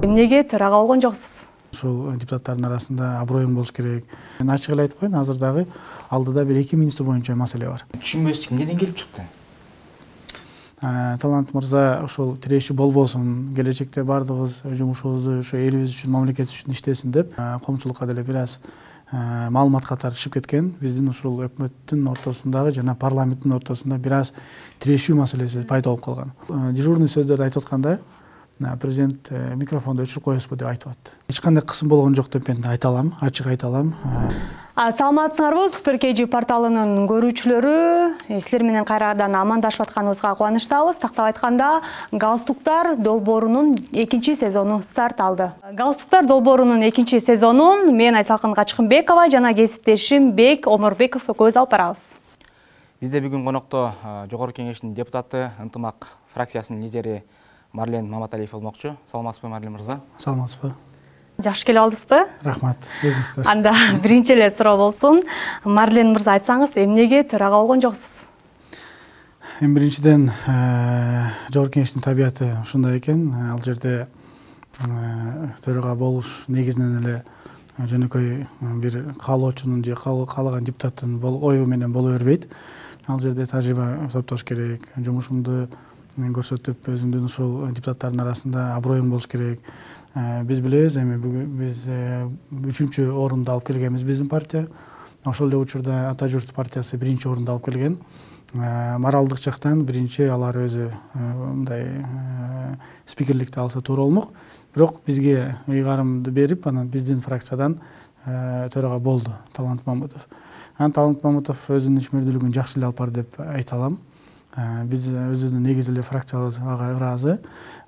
Эмнеге төрага болгон жоксуз? Ушул депутаттардын арасында аброюң болуш керек. Мен ачык эле айтып коеюн, азыр дагы алдыда бир 2 министр боюнча маселе бар. Түшүнбөстүк эмнеден келип чыкты? Талант мырза ушул тиреши болбосун, келечекте бардыгыбыз жумушубузду ошо элибиз үчүн, мамлекет үчүн иштесин деп коомчулукка деле бир аз маалымат катары чыгып кеткен. Биздин ушул өкмөттүн ортосундагы жана парламенттин ортосунда бир аз тирешүү маселеси пайда болуп калган. Дежурный сөздөрдү айтып атканда президент микрофонду өчүрүп коесузбу деп айтып атты. Эч кандай кысым болгон жок деп мен айта алам, ачык айта алам. Саламатсыңарбы? Супер KG порталынын көрүүчүлөрү, силер менен кайрадан амандашып атканыбызга кубанычтабыз. Тактап айтканда, Галстуктар долбоорунун 2-чи сезону старт алды. Галстуктар долбоорунун 2-чи сезонун мен Айсалкын Качкынбекова жана кесиптешим Бек Омурбеков көз алып барабыз. Бизде бүгүн конокто Жогорку Кеңештин депутаты, Ынтымак фракциясынын лидери Марлен Маматалиев болмокчу. Саламатсызбы, Марлен мырза? Саламатсызбы. Жакшы келип алдыңызбы? Рахмат. Өзүңүздөр. Анда биринчи эле суроо болсун. Марлен мырза, айтсаңыз, эмнеге төрага болгон жоксуз? Эми биринчиден Жогорку Кеңештин табияты ушундай экен. Ал жерде төрага болуш негизинен эле жөнөкөй бир каалоочунун же каалаган депутаттын ою менен боло бербейт. Ал жерде тажрыйба топтош керек, жумушумду көрсөтүп, өзүмдүн ушул депутаттардын арасында аброюм болуш керек. Биз билебиз, эми биз 3-чү орунду алып келгенбиз биздин партия. Ошол эле учурда Ата журт партиясы 1-чи орунду алып келген. Моралдык жактан биринчи алар өзү мындай спикерликти алса туура болмок. Бирок бизге ыйгарымды берип, анан биздин фракциядан төрага болду Талант Мамытов. Талант Мамытов өзүнүн ишмердүүлүгүн жакшы эле алып барды деп айта алам. Биз өзүбүздүн негиз эле фракциябыз ага ыраазы.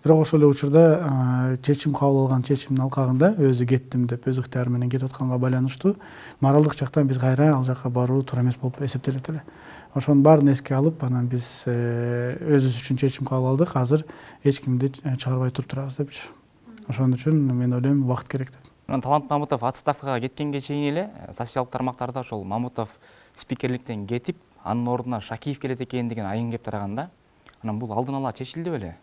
Бирок ошол эле учурда чечим кабыл алган чечимдин алкагында өзү кеттим деп, өз ыктыяры менен кетип атканга байланыштуу моралдык жактан биз кайра ал жака баруу туура эмес болуп эсептелет эле. Ошонун баарын эске алып, анан биз өзүбүз үчүн чечим кабыл алдык. Азыр эч кимди чыгарбай туруп турабыз депчи. Ошон үчүн мен ойлойм, убакыт керек деп. Талант Мамытов отставкага кеткенге чейин эле социалдык тармактарда ошол Мамытов спикерликтен кетип, анын ордуна Шакиев келет экен деген айын кеп тараганда, анан бул алдын ала чечилди беле?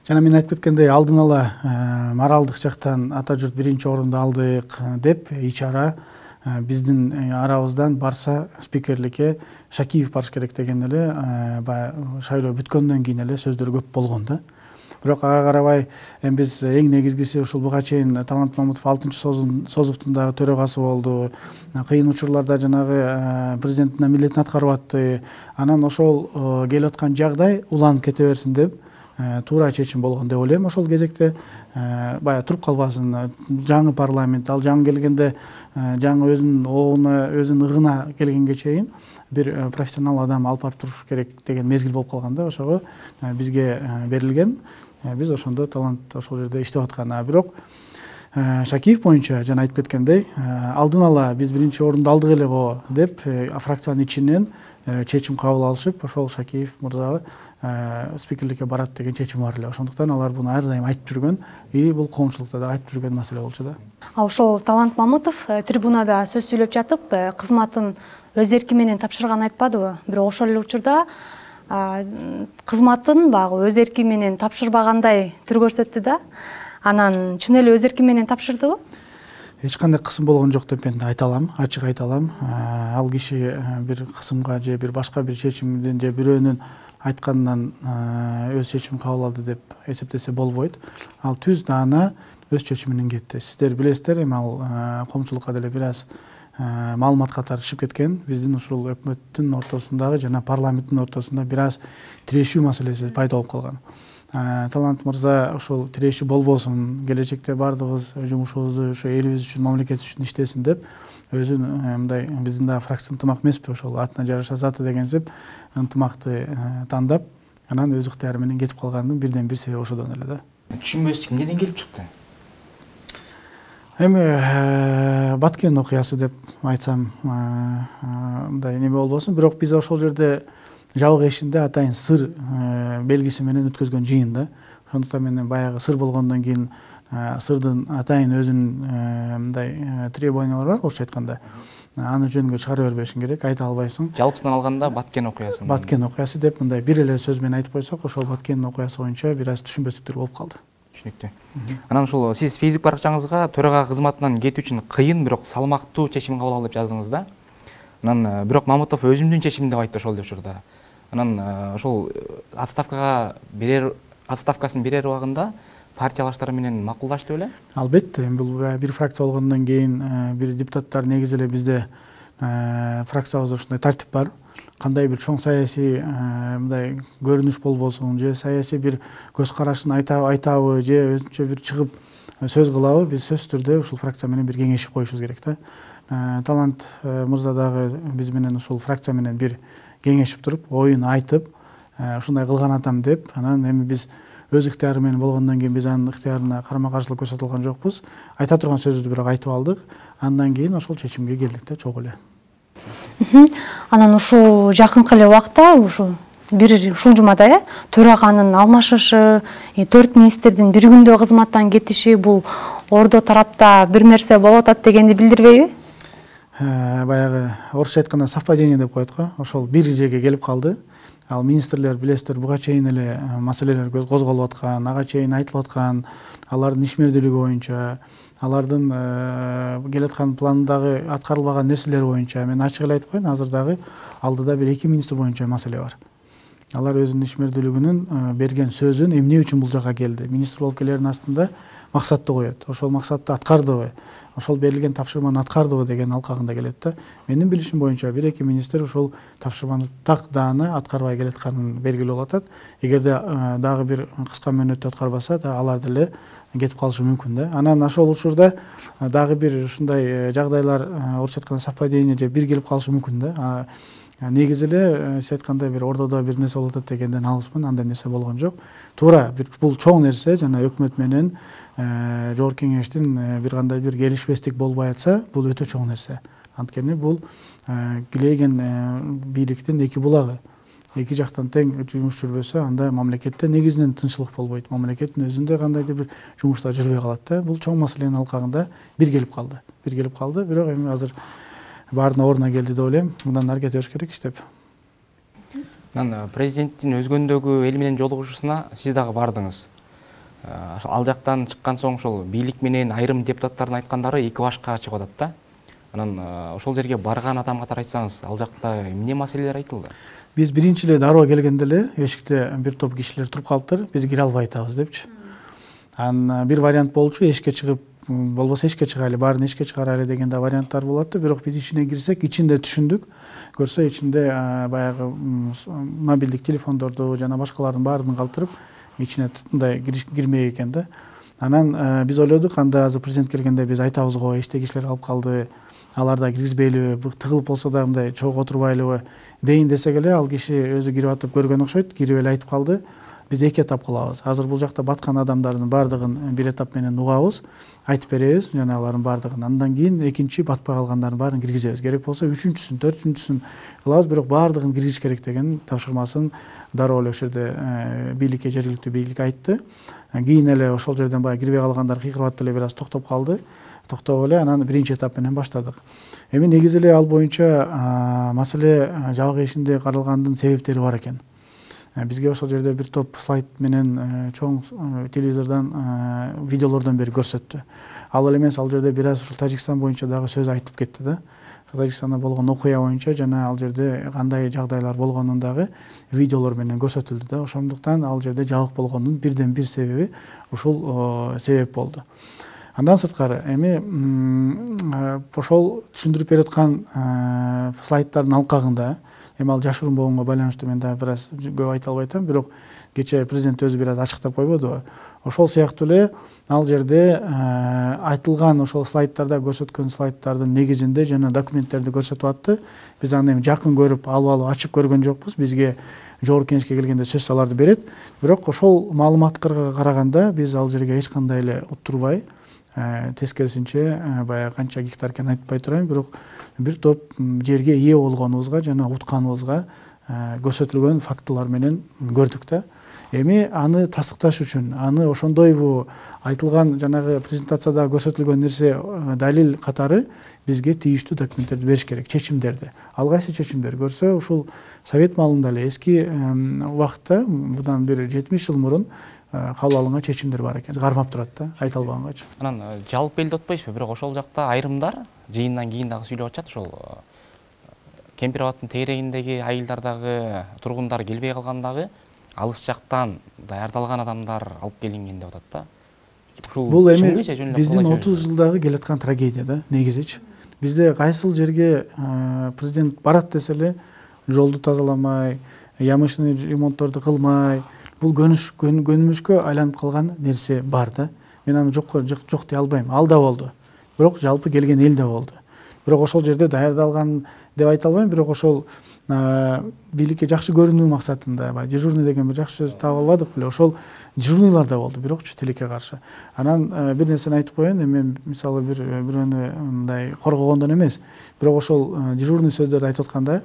Жана мен айтып кеткендей, алдын ала моралдык жактан Ата журт 1-чи орунду алдык деп, ичара биздин арабыздан барса спикерликке Шакиев барыш керек деген эле шайлоо бүткөндөн кийин эле сөздөр көп болгон да. Бирок ага карабай, эми биз эң негизгиси ушул буга чейин Талант Мамытов 6-чы созувдун дагы төрагасы болду. Кыйын учурларда жанагы президенттин милдетин аткарып атты. Анан ошол келип аткан жагдай уланып кете берсин деп туура чечим болгон деп ойлойм. Ошол кезекте баягы туруп калбасын. Жаңы парламент, ал жаңы келгенде жаңы өзүнүн оогуна, өзүнүн ыгына келгенге чейин бир профессионал адам алып барып туруш керек деген мезгил болуп калганда, ошого бизге берилген. Биз ошондо Талант ошол жерде иштеп аткан. Бирок Шакиев боюнча жана айтып кеткендей, алдын ала биз 1-чи орунду алдык эле го деп фракциянын ичинен чечим кабыл алышып, ошол Шакиев мырза спикерликке барат деген чечим бар эле. Ошондуктан алар буну ар дайым айтып жүргөн, бул коомчулукта да айтып жүргөн маселе болчу да. Ошол Талант Мамытов трибунада сөз сүйлөп жатып, кызматын өз эрки менен тапшырганын айтпадыбы? Бирок ошол эле учурда кызматын баягы өз эрки менен тапшырбагандай түр көрсөттү да. Анан чын эле өз эрки менен тапшырдыбы? Эч кандай кысым болгон жок деп мен айта алам, ачык айта алам. Ал киши бир кысымга же бир башка бир чечимден же бирөөнүн айтканынан өз чечимин кабыл алды деп эсептесе болбойт. Ал түз даана өз чечиминен кетти. Сиздер билесиздер, эми ал коомчулукка деле бир аз маалымат катары чыгып кеткен. Биздин ушул өкмөттүн ортосундагы жана парламенттин ортосунда бир аз тирешүү маселеси пайда болуп калган. Талант мырза ушул тирешүү болбосун, келечекте бардыгыбыз жумушубузду ошо элибиз үчүн, мамлекет үчүн иштесин деп, өзүн мындай биздин дагы фракция ынтымак эмеспи, ошол атына жараша заты дегенсип ынтымакты тандап, анан өз ыктыяры менен кетип калганын бирден бир себеби ошодон эле да. Түшүнбөстүк эмнеден келип чыкты? Эми Баткен окуясы деп айтсам мындай неме болбосун, бирок биз ошол жерде жабык эшигинде атайын сыр белгиси менен өткөзгөн жыйын да. Ошондуктан мен баягы сыр болгондон кийин сырдын атайын өзүнүн мындай требованиялары бар, орусча айтканда. Аны жөнгө чыгара бербешиң керек, айта албайсың. Жалпысынан алганда Баткен окуясы. Баткен окуясы деп мындай бир эле сөз менен айтып койсок, ошол Баткен окуясы боюнча бир аз түшүнбөстүктөр болуп калды. түшүнүктүү. Анан ушул сиз Facebook баракчаңызга төрага кызматынан кетүү үчүн кыйын, бирок салмактуу чечим кабыл алып жаздыңыз да. Анан бирок Мамутов өзүмдүн чечимим деп айтты ошол учурда. Анан ошол отставкасын берер убагында партиялаштар менен макулдашты беле? Албетте, бул бир фракция болгондон кийин бир депутаттар негизи эле бизде фракциябызда ушундай тартип бар. Кандай бир чоң саясий мындай көрүнүш болбосун, же саясий бир көз карашын айтабы, же өзүнчө бир чыгып сөз кылабы, биз сөзсүз түрдө ушул фракция менен бир кеңешип коюшубуз керек да. Талант мырза дагы биз менен ушул фракция менен бир кеңешип туруп, оюн айтып, ушундай кылган атам деп, анан эми биз өз ыктыяры менен болгондон кийин биз анын ыктыярына карама каршылык көрсөтө алган жокпуз. Айта турган сөзүбүздү бирок айтып алдык. Андан кийин ошол чечимге келдик да, чогуу эле. Анан ушул жакынкы эле убакта ушул жумада төраганын алмашышы, 4 министрдин бир күндө кызматтан кетиши бул ордо тарапта бир нерсе болуп атат дегенди билдирбейби? Баягы орусча айтканда совпадение деп коет го. Ошол бир жерге келип калды. Ал министрлер билесиздер, буга чейин эле маселелер козголуп аткан, ага чейин айтылып аткан, алардын ишмердүүлүгү боюнча, алардын келаткан пландагы аткарылбаган нерселер боюнча мен ачык эле айтып коеюн, азыр дагы алдыда бир 2 министр боюнча маселе бар. Алар өзүнүн ишмердүүлүгүнүн берген сөзүн эмне үчүн бул жака келди? Министр болуп келердин астында максатты коет. Ошол максатты аткардыбы? Ошол берилген тапшырманы аткардыбы деген алкагында келет да. Менин билишим боюнча 1-2 министр ошол тапшырманы так даана аткарбай келатканын белгилүү болуп атат. Эгерде дагы бир кыска мөөнөттө аткарбаса, алар деле кетип калышы мүмкүн да. Анан ошол учурда дагы бир ушундай жагдайлар орусча айтканда совпадение же бир келип калышы мүмкүн да. Негизи эле сиз айткандай бир ордодо бир нерсе болуп атат дегенден алыспын, андай нерсе болгон жок. Туура бул чоң нерсе, жана өкмөт менен жогорку кеңештин бир кандай бир келишпестик болбой атса, бул өтө чоң нерсе. Анткени бул килейген бийликтин эки булагы. Эки жактан тең жумуш жүрбөсө, анда мамлекетте негизинен тынччылык болбойт. Мамлекеттин өзүндө кандайдыр бир жумуштар жүрбөй калат да. Бул чоң маселенин алкагында бир келип калды. Бирок эми азыр баарына ордуна келди деп ойлойм. Мындан ары кете бериш керек иштеп. Анан президенттин өзгөндөгү эл менен жолугушуусуна сиз дагы бардыңыз. Ал жактан чыккан соң ошол бийлик менен айрым депутаттардын айткандары эки башка чыгып атат да. Анан ошол жерге барган адам катары айтсаңыз, ал жакта эмне маселелер айтылды? Биз биринчи эле дароо келгенде эле эшикте бир топ кишилер туруп калыптыр, биз кире албай атабыз депчи. Анан бир вариант болчу, эшикке чыгып, болбосо эшикке чыгайлы, баарын эшикке чыгарайлы деген да варианттар болот. Бирок биз ичине кирсек, ичинде түшүндүк. Көрсө ичинде баягы мобилдик телефондорду жана башкалардын баарын калтырып, ичине мындай кирмек экен да. Анан биз ойлодук, анда азыр президент келгенде биз айтабыз го, эшикте кишилер калып калды, аларда киргизбейлиби, тыгылып болсо да мындай чогуу отурбайлыбы дейин десек эле, ал киши өзү кирип атып көргөн окшойт, кирип эле айтып калды. Биз эки этап кылабыз. Азыр бул жакта баткан адамдардын баардыгын бир этап менен угабыз, айтып беребиз, жана алардын баардыгын. Андан кийин экинчи батпай калгандардын баарын киргизебиз. Керек болсо үчүнчүсүн, төртүнчүсүн кылабыз, бирок баардыгын киргизиш керек деген тапшырмасын дароо эле ошол жерде бийликке, жергиликтүү бийликке айтты. Кийин эле ошол жерден баягы кирбей калгандар кыйкырып эле бир аз токтоп калды. Токтоп эле анан биринчи этап менен баштадык. Эми негизи эле ал боюнча маселе жабык эшикте каралгандын себептери бар экен. Бизге ошол жерде бир топ слайд менен чоң телевизордон видеолордон бери көрсөттү. Ал эле эмес, ал жерде бир аз ушул Тажикстан боюнча дагы сөз айтып кетти да. Тажикстанда болгон окуя боюнча жана ал жерде кандай жагдайлар болгонун дагы видеолор менен көрсөтүлдү да. Ошондуктан ал жерде жабык болгондун бирден бир себеби ушул себеп болду. Андан сырткары эми ошол түшүндүрүп бераткан слайддардын алкагында, эми ал жашыруун болгонго байланыштуу мен дагы бир аз көп айта албай атам, бирок кечээ президент өзү бир аз ачыктап койбодубу? Ошол сыяктуу эле ал жерде айтылган ошол слайддарда көрсөткөн слайддардын негизинде жана документтерди көрсөтүп атты. Биз аны эми жакын көрүп, алып ачып көргөн жокпуз. Бизге жогорку кеңешке келгенде сөзсүз аларды берет. Бирок ошол маалыматтарга караганда биз ал жерге эч кандай эле уттурбай, тескерисинче баягы канча гектар экенин айтпай турайын, бирок бир топ жерге ээ болгонубузга жана утканыбызга көрсөтүлгөн фактылар менен көрдүк да. Эми аны тасыкташ үчүн, аны ошондойбу айтылган жанагы презентацияда көрсөтүлгөн нерсе далил катары бизге тийиштүү документтерди бериш керек, чечимдерди. Ал кайсы чечимдер көрсө, ушул совет маалында эле эски убакытта, мындан бир 70 жыл мурун кабыл алынган чечимдер бар экен. Кармап турат да, айта албагангачы. Анан жалпы элди отпойсузбу, бирок ошол жакта айрымдар жыйындан кийин дагы сүйлөп атышат, ошол Кемпир абадтын тегерегиндеги айылдар дагы, тургундар келбей калгандагы алыс жактан даярдалган адамдар алып келинген деп атат да. Бул эми биздин 30 жылдагы келаткан трагедия да, негизичи. Бизде кайсыл жерге президент барат десе эле жолду тазаламай, ямышный ремонтторду кылмай, бул көнүмүшкө айланып калган нерсе бар да. Мен аны жок дей албайм. Ал да болду. Бирок жалпы келген эл да болду. Бирок ошол жерде даярдалган деп айта албайм, бирок ошол бийликке жакшы көрүнүү максатында дежурный деген бир жакшы сөз таап албадык беле, ошол дежурныйлар да болду, бирокчу тилекке каршы. Анан бир нерсени айтып коеюн, мен мисалы бирөөнү мындай коргогондон эмес, бирок ошол дежурный сөздөрдү айтып атканда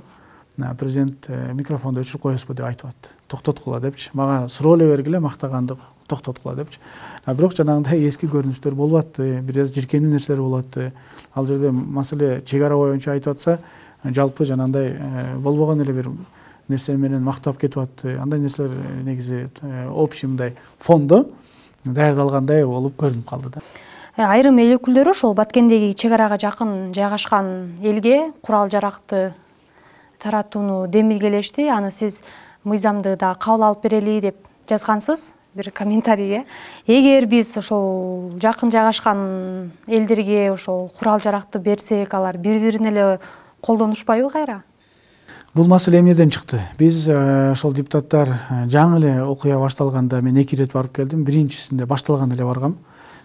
президент микрофонду өчүрүп коесузбу деп айтып атты. Токтоткула депчи. Мага суроо эле бергиле, мактаганды токтоткула депчи. Бирок жанагындай эски көрүнүштөр болуп атты, бир аз жиркенүү нерселер болуп атты. Ал жерде маселе чек ара боюнча айтып атса, жалпы жанагындай болбогон эле бир нерсе менен мактап кетип атты. Андай нерселер негизи общий мындай фондо даярдалгандай болуп көрүнүп калды да. Айрым эл өкүлдөрү ошол Баткендеги чек арага жакын жайгашкан элге курал жаракты таратууну демилгелешти. Аны сиз мыйзамды да кабыл алып берели деп жазгансыз бир комментарийге. Эгер биз ошол жакын жайгашкан элдерге ошол курал жаракты берсек, алар бири-бирине эле колдонушпайбы кайра? Бул маселе эмнеден чыкты? Биз ошол депутаттар жаңы эле окуя башталганда мен 2 ирет барып келдим. Биринчисинде башталганда эле баргам.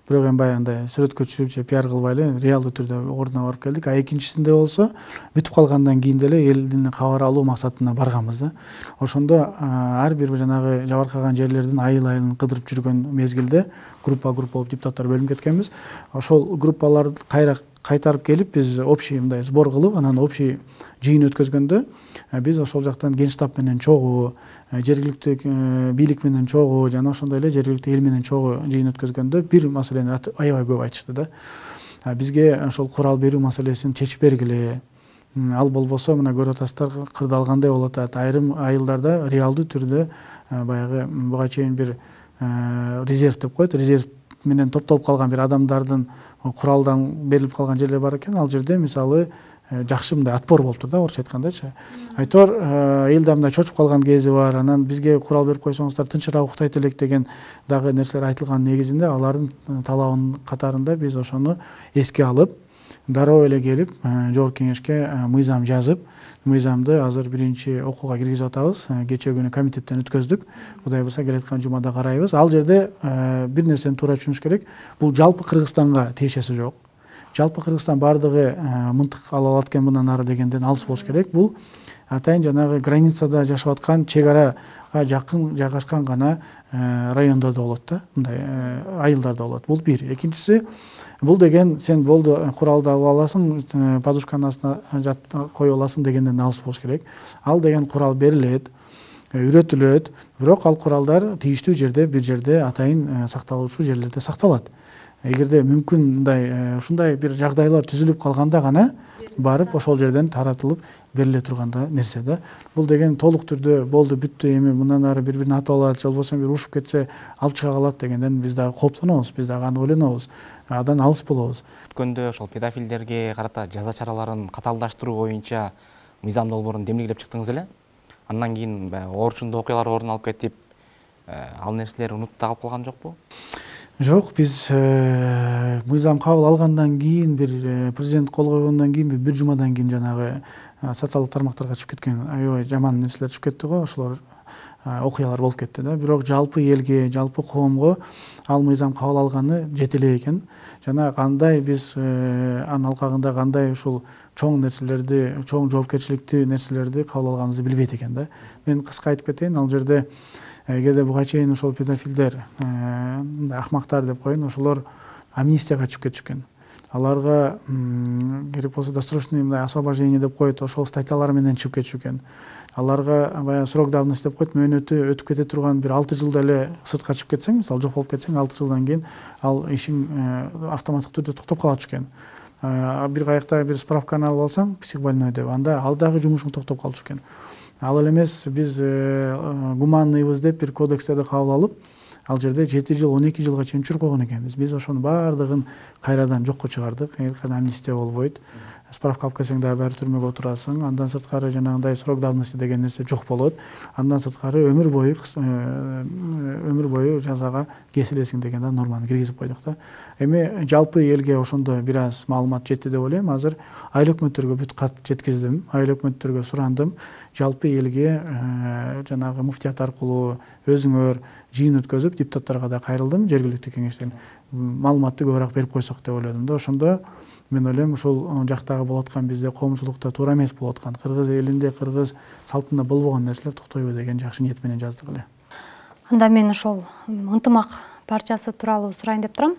Бирок эми баягындай сүрөткө түшүп же пиар кылбай эле реалдуу түрдө ордуна барып келдик. Экинчисинде болсо бүтүп калгандан кийин деле элдин кабар алуу максатына барганбыз да. Ошондо ар бир жанагы жабыркаган жерлердин айыл-айылын кыдырып жүргөн мезгилде группа болуп депутаттар бөлүнүп кеткенбиз. Ошол группаларды кайтарып келип биз общий мындай сбор кылып, анан общий жыйын өткөзгөндө биз ошол жактан генштаб менен чогуу, жергиликтүү бийлик менен чогуу, жана ошондой эле жергиликтүү эл менен чогуу жыйын өткөзгөндө бир маселени аябай көп айтышты да. Бизге ошол курал берүү маселесин чечип бергиле. Ал болбосо мына көрүп атасыздар, кырдалгандай болуп атат. Айрым айылдарда реалдуу түрдө баягы буга чейин бир резерв деп коет, резерв менен топтолуп калган бир адамдардын куралдан берилип калган жерлер бар экен. Ал жерде мисалы жакшы мындай отпор болуптур да, орусча айткандачы. Айтор эл да мындай чочуп калган кези бар. Анан бизге курал берип койсоңуздар тынчыраак уктайт элек деген дагы нерселер айтылган негизинде алардын талабынын катарында биз ошону эске алып, дароо эле келип жогорку кеңешке мыйзам жазып, мыйзамды азыр биринчи окууга киргизип атабыз. Кечээ күнү комитеттен өткөздүк. Кудай буюрса келаткан жумада карайбыз. Ал жерде бир нерсени туура түшүнүш керек. Бул жалпы Кыргызстанга тиешеси жок. Жалпы Кыргызстан бардыгы мынтык ала алат экен мындан ары дегенден алыс болуш керек. Бул атайын жанагы границада жашап аткан, чек арага жакын жайгашкан гана райондордо болот да, мындай айылдарда болот. Бул бир. Экинчиси, бул деген сен болду куралды алып аласың, подушканын астына коюп аласың дегенден алыс болуш керек. Ал деген курал берилет, үйрөтүлөт, бирок ал куралдар тийиштүү жерде, бир жерде атайын сакталуучу жерлерде сакталат. Эгерде мүмкүн мындай ушундай бир жагдайлар түзүлүп калганда гана барып ошол жерден таратылып бериле турганда нерсе да. Бул деген толук түрдө болду, бүттү, эми мындан ары бири-бирин атып алат, же болбосо бир ушуп кетсе алып чыга калат дегенден биз дагы кооптонобуз, биз дагы аны ойлонобуз, адан алыс болобуз. Өткөндө ошол педофилдерге карата жаза чараларын катаалдаштыруу боюнча мыйзам долбоорун демилгелеп чыктыңыз эле. Андан кийин орчундуу окуялар орун алып кетип, ал нерселер унутта калып калган жокпу? Жок, биз мыйзам кабыл алгандан кийин, бир президент кол койгондон кийин бир жумадан кийин жанагы социалдык тармактарга чыгып кеткен аябай жаман нерселер чыгып кетти го, ошолор окуялар болуп кетти да. Бирок жалпы элге, жалпы коомго ал мыйзам кабыл алганы жете эле экен. Жана кандай биз анын алкагында кандай ушул чоң нерселерди, чоң жоопкерчиликтүү нерселерди кабыл алганыбызды билбейт экен да. Мен кыска айтып кетейин, ал жерде эгерде буга чейин ошол педофилдер, акмактар деп коеюн, ошолор амнистияга чыгып кетишкен. аларга керек болсо досрочный мындай освобождение деп коет, ошол статьялар менен чыгып кетиши экен. Аларга баягы срок давности деп коет, мөөнөтү өтүп кете турган бир 6 жылда эле сыртка чыгып кетсең, мисалы жок болуп кетсең, 6 жылдан кийин ал ишиң автоматтык түрдө токтоп калат экен. Бир каякта бир справканы алып алсаң, психбольной деп, анда ал дагы жумушуң токтоп калчу экен. Ал эле эмес, биз гуманныйбыз деп бир кодекстерди кабыл алып, ал жерде 7 жыл 12 жылга чейин түшүрүп койгон экенбиз. Биз ошонун баардыгын кайрадан жокко чыгардык. Амнистия болбойт. Справка алып келсең дагы баары түрмөгө отурасың. Андан сырткары жанагындай срок давности деген нерсе жок болот. Андан сырткары өмүр бою жазага кесилесиң деген да норманы киргизип койдук да. Эми жалпы элге ошондо бир аз маалымат жетти деп ойлойм. Азыр айыл өкмөттөргө бүт кат жеткиздим. Айыл өкмөттөргө сурандым. Жалпы элге жанагы муфтият аркылуу өзүңөр жыйын өткөзүп, депутаттарга да кайрылдым, жергиликтүү кеңештен маалыматты көбүрөөк берип койсок деп ойлодум да. Ошондо мен ойлойм, ушул жактагы болуп аткан бизде коомчулукта туура эмес болуп аткан, кыргыз элинде, кыргыз салтында болбогон нерселер токтойбу деген жакшы ниет менен жаздык эле. Анда мен ошол ынтымак партиясы тууралуу сурайын деп турам.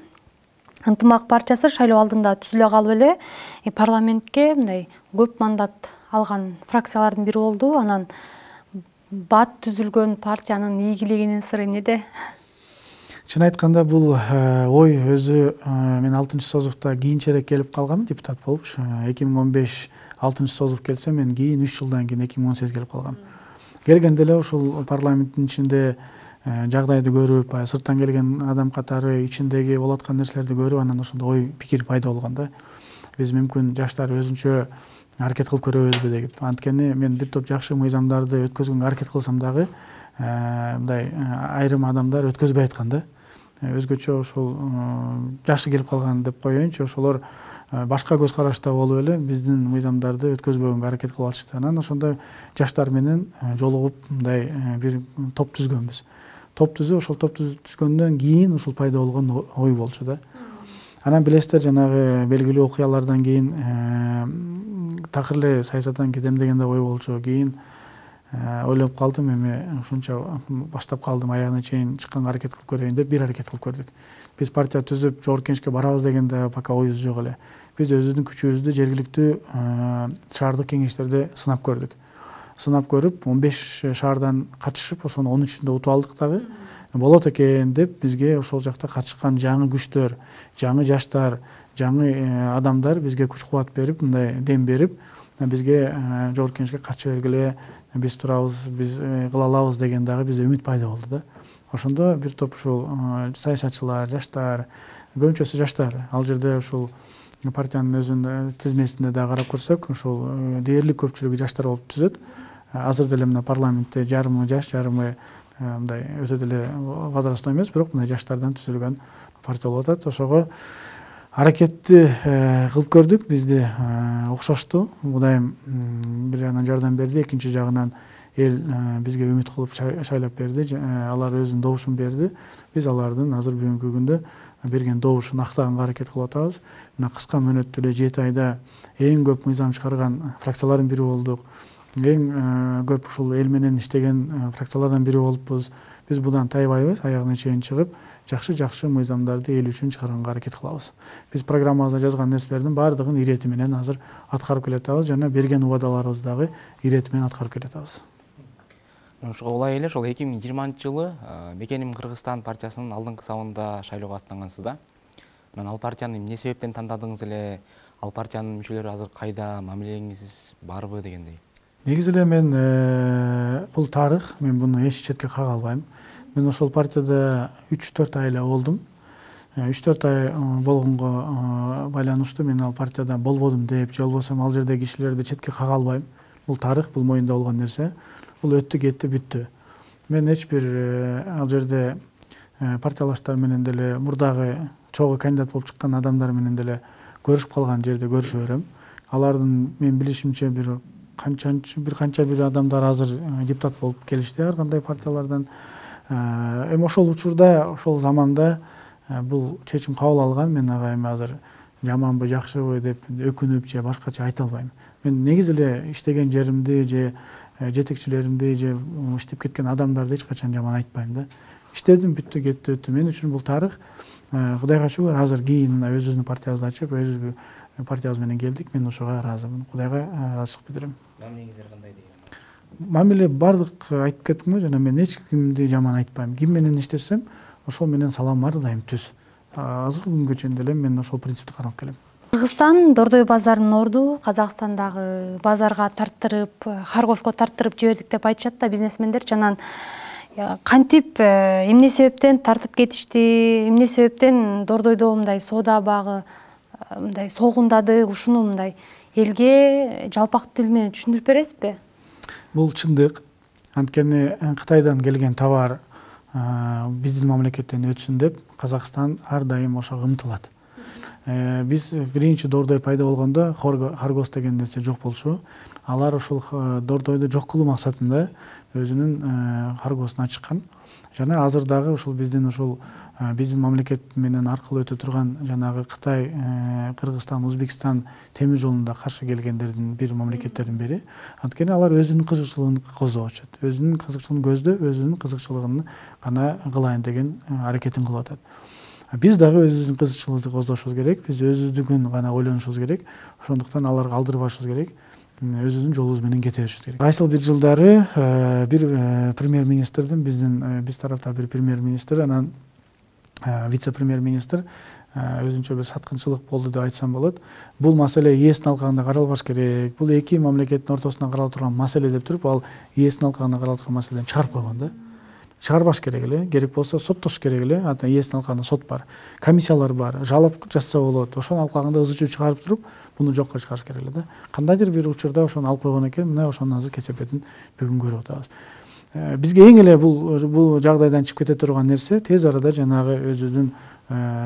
Ынтымак партиясы шайлоо алдында түзүлө калып эле парламентке мындай көп мандат алган фракциялардын бири болду. Анан бат түзүлгөн партиянын ийгилигинин сыры эмнеде? Чын айтканда бул ой өзү мен 6-созувда кийинчерээк келип калгам, депутат болупчу. 2015 6-созув келсе, мен кийин 3 жылдан кийин 2018 келип калгам. Келгенде эле ушул парламенттин ичинде жагдайды көрүп, сырттан келген адам катары ичиндеги болуп аткан нерселерди көрүп, анан ошондо ой пикир пайда болгон да. Биз мүмкүн жаштар өзүнчө аракет кылып көрөбүзбү деп. Анткени мен бир топ жакшы мыйзамдарды өткөзгөнгө аракет кылсам дагы мындай айрым адамдар өткөзбөй аткан да. Өзгөчө ошол жашы келип калган деп коеюнчу, ошолор башка көз карашта болуп эле биздин мыйзамдарды өткөзбөгөнгө аракет кылып атышты. Анан ошондо жаштар менен жолугуп мындай бир топ түзгөнбүз. Топ түзүп, ошол топ түзгөндөн кийин ушул пайда болгон ой болчу да. Анан билесиздер, жанагы белгилүү окуялардан кийин такыр эле саясаттан кетем деген да ой болчу. Кийин ойлоп калдым, эми ушунча баштап калдым, аягына чейин чыкканга аракет кылып көрөйүн деп бир аракет кылып көрдүк. Биз партия түзүп жогорку кеңешке барабыз деген да пока оюбуз жок эле. Биз өзүбүздүн күчүбүздү жергиликтүү шаардык кеңештерде сынап көрдүк. Сынап көрүп, 15 шаардан катышып, ошонун 13-үндө утуп алдык дагы. Болот экен деп бизге ошол жакта катышкан жаңы күчтөр, жаңы жаштар, жаңы адамдар бизге күч кубат берип, мындай дем берип, бизге жогорку кеңешке катыша бергиле, биз турабыз, биз кыла алабыз деген дагы бизде үмүт пайда болду да. Ошондо бир топ ушул саясатчылар, жаштар, көбүнчөсү жаштар, ал жерде ушул партиянын өзүнүн тизмесинде да карап көрсөк, ушул дээрлик көпчүлүгү жаштар болуп түзөт. Азыр деле мына парламентте жарымы жаш, жарымы мындай өтө деле возрастной эмес, бирок мына жаштардан түзүлгөн партия болуп атат. Ошого аракетти кылып көрдүк, бизде окшошту. Мудайым бир жагынан жардам берди, экинчи жагынан эл бизге үмүт кылып шайлап берди. Алар өзүнүн добушун берди. Биз алардын азыр бүгүнкү күндө берген добушун актаганга аракет кылып атабыз. Мына кыска мөөнөттө эле 7 айда эң көп мыйзам чыгарган фракциялардын бири болдук. Эң көп ушул эл менен иштеген фракциялардан бири болуппуз. Биз будан тайбайбыз, аягына чейин чыгып, жакшы мыйзамдарды эл үчүн чыгарганга аракет кылабыз. Биз программабызда жазган нерселердин баардыгын ирети менен азыр аткарып келатабыз жана берген убадаларыбызды дагы ирети менен аткарып келатабыз. Олай эле ошол 2020-жылы Мекеним Кыргызстан партиясынын алдыңкы сабында шайлоого аттангансыз да. Анан ал партияны эмне себептен тандадыңыз эле? Ал партиянын мүчөлөрү азыр кайда, мамилеңиз барбы дегендей? Негизи эле мен бул тарых, мен буну эч четке кага албайм. Мен ошол партияда 3-4 ай эле болдум. 3-4 ай болгонго байланыштуу мен ал партияда болбодум деп, же болбосо ал жердеги кишилерди четке кага албайм. Бул тарых, бул моюнда болгон нерсе. Бул өттү, кетти, бүттү. Мен эч бир ал жерде партиялаштар менен деле, мурдагы чогуу кандидат болуп чыккан адамдар менен деле көрүшүп калган жерде көрүшө берем. Алардын мен билишимче бир канча бир адамдар азыр депутат болуп келишти ар кандай партиялардан. Эми ошол учурда, ошол заманда бул чечим кабыл алган. Мен ага эми азыр жаманбы, жакшыбы деп өкүнүп же башкача айта албайм. Мен негизи эле иштеген жеримди же жетекчилеримди же иштеп кеткен адамдарды эч качан жаман айтпайм да. иштедим, бүттү, кетти, өттү. Мен үчүн бул тарых. Кудайга шүгүр, азыр кийин өзүбүздүн партиябызды ачып, өз партиябыз менен келдик. Мен ошого ыраазымын. Кудайга ыраазычылык билдирем. Мамилеңиздер кандай деген? Мамиле бардык айтып кеттим го жана, мен эч кимди жаман айтпайм. Ким менен иштесем, ошол менен салам ар дайым түз. Азыркы күнгө чейин деле мен ошол принципти кармап келем. Кыргызстан Дордой базарынын орду Казакстандагы базарга тарттырып, Харгоско тарттырып жибердик деп айтышат да бизнесмендер. Жанан кантип, эмне себептен тартып кетишти, эмне себептен Дордойдо мындай соода багы мындай солгундады, ушуну мындай элге жалпак тил менен түшүндүрүп бересизби? Бул чындык. Анткени Кытайдан келген товар биздин мамлекеттен өтсүн деп Казакстан ар дайым ошого умтулат. Биз биринчи Дордой пайда болгондо Харгос деген нерсе жок болчу. Алар ошол Дордойду жок кылуу максатында өзүнүн Харгосун ачкан. Жана азыр дагы ушул биздин мамлекет менен аркылуу өтө турган жанагы Кытай, Кыргызстан, Өзбекстан темир жолунда каршы келгендердин бир мамлекеттердин бири. Анткени алар өзүнүн кызыкчылыгын көздөп атышат. Өзүнүн кызыкчылыгын көздөп, өзүнүн кызыкчылыгын гана кылайын деген аракетин кылып атат. Биз дагы өзүбүздүн кызыкчылыгыбызды коздошубуз керек. Биз өзүбүздүкүн гана ойлонушубуз керек. Ошондуктан аларга алдырбашыбыз керек. Өзүбүздүн жолубуз менен кете беришибиз керек. Кайсыл бир жылдары бир премьер-министрдин биз тарапта бир премьер-министр, анан вице-премьер-министр өзүнчө бир саткынчылык болду деп айтсам болот. Бул маселе ээсинин алкагында каралбаш керек. Бул эки мамлекеттин ортосунда каралып турган маселе деп туруп, ал ээсинин алкагында каралып турган маселени чыгарып койгон да. Чыгарбаш керек эле, керек болсо соттош керек эле. Ата ээсинин алкагында сот бар, комиссиялар бар, жалап жазса болот. Ошонун алкагында ызы чуу чыгарып туруп, буну жокко чыгарыш керек эле да. Кандайдыр бир учурда ошону алып койгон экен, мына ошонун азыр кесепетин бүгүн көрүп атабыз. Бизге эң эле бул жагдайдан чыгып кете турган нерсе тез арада жанагы өзүбүздүн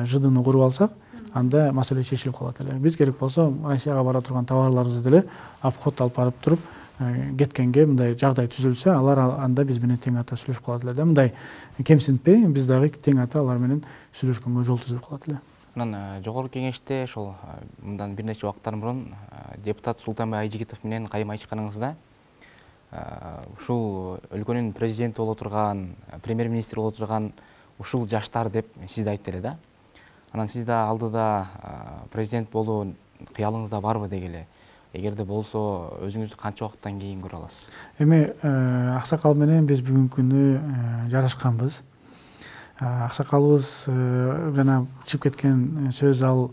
жыдыны куруп алсак, анда маселе чечилип калат эле. Биз керек болсо Россияга бара турган товарларыбызды деле обход алып барып туруп кеткенге мындай жагдай түзүлсө, алар анда биз менен тең ата сүйлөшүп калат эле да. Мындай кемсинтпей, биз дагы тең ата алар менен сүйлөшкөнгө жол түзүп калат эле. Анан жогорку кеңеште ошол мындан бир нече убакыттар мурун депутат Султанбай Айжигитов менен кайым айтышканыңызда ушул өлкөнүн президенти боло турган, премьер-министр боло турган ушул жаштар деп сизди айтты эле да. Анан сиз да алдыда президент болуу кыялыңызда барбы дегиле? Эгерде болсо, өзүңүздү канча убакыттан кийин көрө аласыз? Эми аксакал менен биз бүгүнкү күнү жарашканбыз. Аксакалыбыз жана чыгып кеткен сөз ал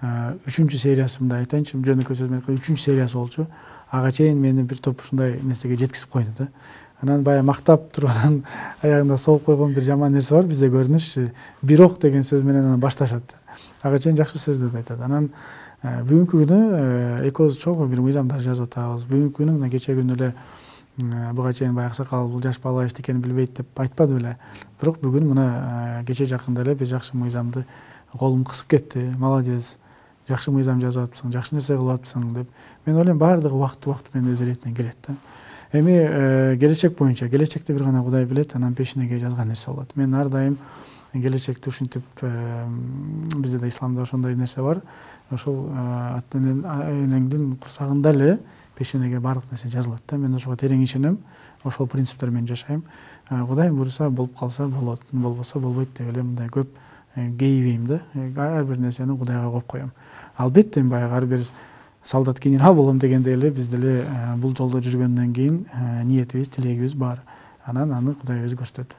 3-чү сериясы, мындай айтайынчы, жөнөкөй сөз менен 3-чү сериясы болчу. Ага чейин мени бир топ ушундай нерсеге жеткизип койду да. Анан баягы мактап туруп анан аягында согуп койгон бир жаман нерсе бар бизде, көрүнүш. Бирок деген сөз менен анан башташат. Ага чейин жакшы сөздөрдү айтат. Анан бүгүнкү күнү экөөбүз чогуу бир мыйзамдар жазып атабыз. Бүгүнкү күнү мына кече күнү эле буга чейин баягы аксакал бул жаш бала эчтекени билбейт деп айтпады беле. Бирок бүгүн мына кече жакында эле бир жакшы мыйзамды колум кысып кетти. Молодец. Жакшы мыйзам жазып атыпсың, жакшы нерсе кылып атыпсың деп. Мен ойлойм баардыгы убакыт менен өз иретинен келет да. Эми келечек боюнча, келечекти бир гана Кудай билет, анан пешинеге жазган нерсе болот. Мен ар дайым келечекти ушинтип, бизде да исламда ошондой нерсе бар. Ошол энеңдин курсагында эле пешенеге баардык нерсе жазылат да. Мен ошого терең ишенем, ошол принциптер менен жашайм. Кудай буйруса болуп калса болот, болбосо болбойт деп эле мындай көп кейибейм да. Ар бир нерсени Кудайга коюп коем. Албетте баягы ар бир солдат генерал болом дегенде эле биз деле бул жолдо жүргөндөн кийин ниетибиз, тилегибиз бар. Анан аны Кудай өзү көрсөтөт.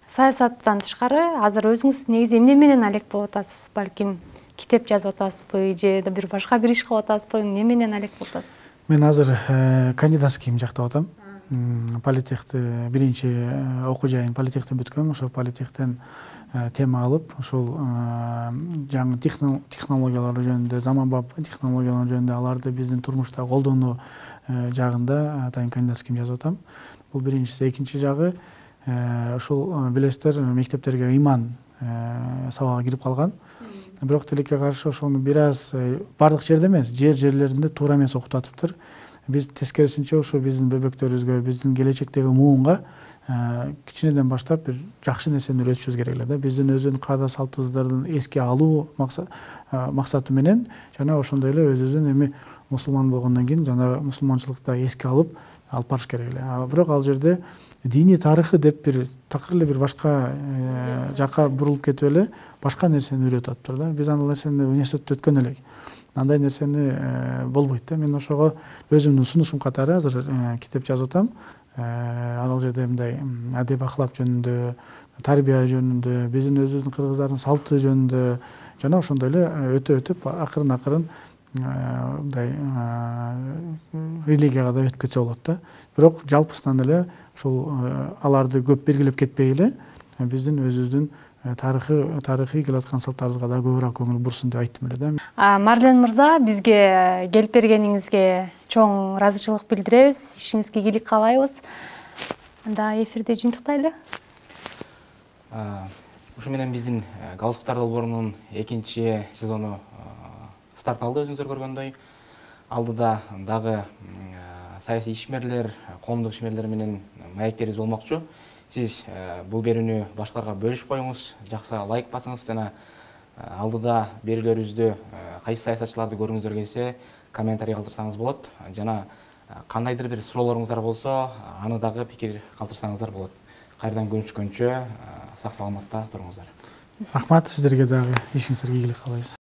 Саясаттан тышкары азыр өзүңүз негизи эмне менен алек болуп атасыз? Балким китеп жазып атасызбы же бир башка бир иш кылып атасызбы? Эмне менен алек болуп атасыз? Мен азыр кандидатскийим жактап атам. Политехти биринчи окуу жайын политехти бүткөм. Ошол политехтен тема алып, ошол жаңы технологиялар жөнүндө, заманбап технологиялар жөнүндө аларды биздин турмушта колдонуу жагында атайын кандидатскийим жазып атам. Бул биринчиси. Экинчи жагы ушул билесиздер, мектептерге ыйман сабагы кирип калган. Бирок тилекке каршы ошону бир аз бардык жерде эмес, жерлеринде туура эмес окутуп атыптыр. Биз тескерисинче ошо биздин бөбөктөрүбүзгө, биздин келечектеги муунга кичинеден баштап бир жакшы нерсени үйрөтүшүбүз керек эле да. Биздин өзүнүн каада салт-туздарын эске алуу максаты менен жана ошондой эле өзүбүздүн эми мусулман болгондон кийин жана мусулманчылыкты эске алып барыш керек эле. Бирок ал жерде диний тарыхы деп бир такыр эле бир башка жакка бурулуп кетип эле башка нерсени үйрөтүп атыптыр да. Биз андый нерсени университетте өткөн элек. Андай нерсени болбойт да. Мен ошого өзүмдүн сунушум катары азыр китеп жазып атам. Ал жерде мындай адеп ахлак жөнүндө, тарбия жөнүндө, биздин өзүбүздүн кыргыздардын салты жөнүндө жана ошондой эле өтүп акырын мындай религияга да өтүп кетсе болот да. Бирок жалпысынан эле ушул аларды көп белгилеп кетпей эле биздин өзүбүздүн тарыхый келаткан салттарыбызга да көбүрөөк көңүл бурсун деп айттым эле да. Марлен мырза, бизге келип бергениңизге чоң ыраазычылык билдиребиз. Ишиңизге ийгилик каалайбыз. Анда эфирди жыйынтыктайлы. Ушу менен биздин галстуктар долбоорунун 2 сезону старт алды, өзүңүздөр көргөндөй. Алдыда дагы саясий ишмерлер, коомдук ишмерлер менен маектерибиз болмокчу. Сиз бул берүүнү башкаларга бөлүшүп коюңуз, жакшы лайк басыңыз жана алдыда берүүлөрүбүздү кайсы саясатчыларды көргүңүздөр келсе, комментарий калтырсаңыз болот. Жана кандайдыр бир суроолоруңуздар болсо, аны дагы пикир калтырсаңыздар болот. Кайрадан көрүшкөнчө сак саламатта туруңуздар. Рахмат, сиздерге дагы ишиңиздерге ийгилик каалайбыз.